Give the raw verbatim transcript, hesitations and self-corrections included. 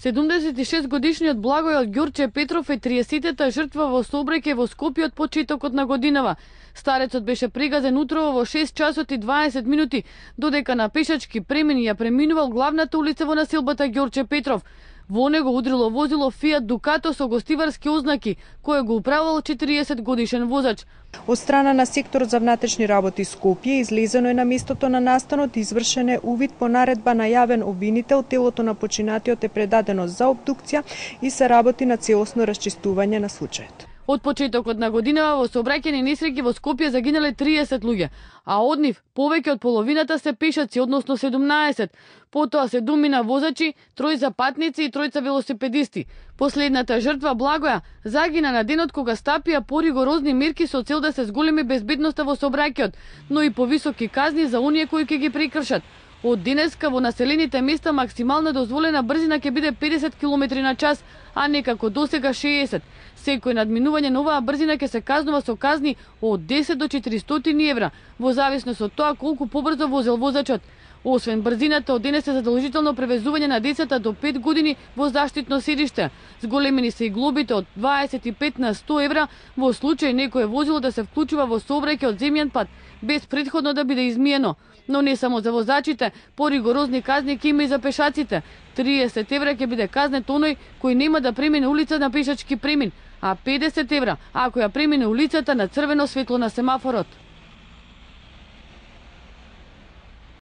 седумдесет и шест годишниот Благојот Ѓурче Петров е триесеттата жртва во сообраќај во Скопје од почетокот на годинава. Старецот беше пригазен утрово во шест часот и дваесет минути, додека на пешачки премин ја преминувал главната улица во населбата Ѓурче Петров. Во него удрило возило Фиат Дукато со гостиварски ознаки, кое го управувал четириесет годишен возач. Од страна на секторот за внатрешни работи Скопје излезено е на местото на настанот, извршен е увид по наредба на јавен обвинител, телото на починатиот е предадено за обдукција и се работи на целосно расчистување на случајот. Од почетокот на годинава во сообраќајни несреќи во Скопје загинале триесет луѓе, а од нив повеќе од половината се пешаци, односно седумнаесет. Потоа седумина возачи, тројца патници и тројца велосипедисти. Последната жртва Благоја загина на денот кога стапија поригорозни мерки со цел да се зголеми безбедноста во сообраќајот, но и повисоки казни за оние кои ќе ги прекршат. Од денеска во населените места максимална дозволена брзина ќе биде педесет километри на час, а не како досега шеесет. Секој надминување на оваа брзина ќе се казнува со казни од десет до четиристотини евра, во зависност од тоа колку побрзо возел возачот. Освен брзината, од денес е задолжително превезување на децата до пет години во заштитно седиште. Зголемени се и глобите од дваесет и пет на сто евра во случај некое возило да се вклучува во сообраќај од земјен пат без претходно да биде измиено. Но не само за возачите, поригорозни казни ќе има и за пешаците. триесет евра ќе биде казнет оној кој нема да премине улица на пешачки премин, а педесет евра ако ја премине улицата на црвено светло на семафорот.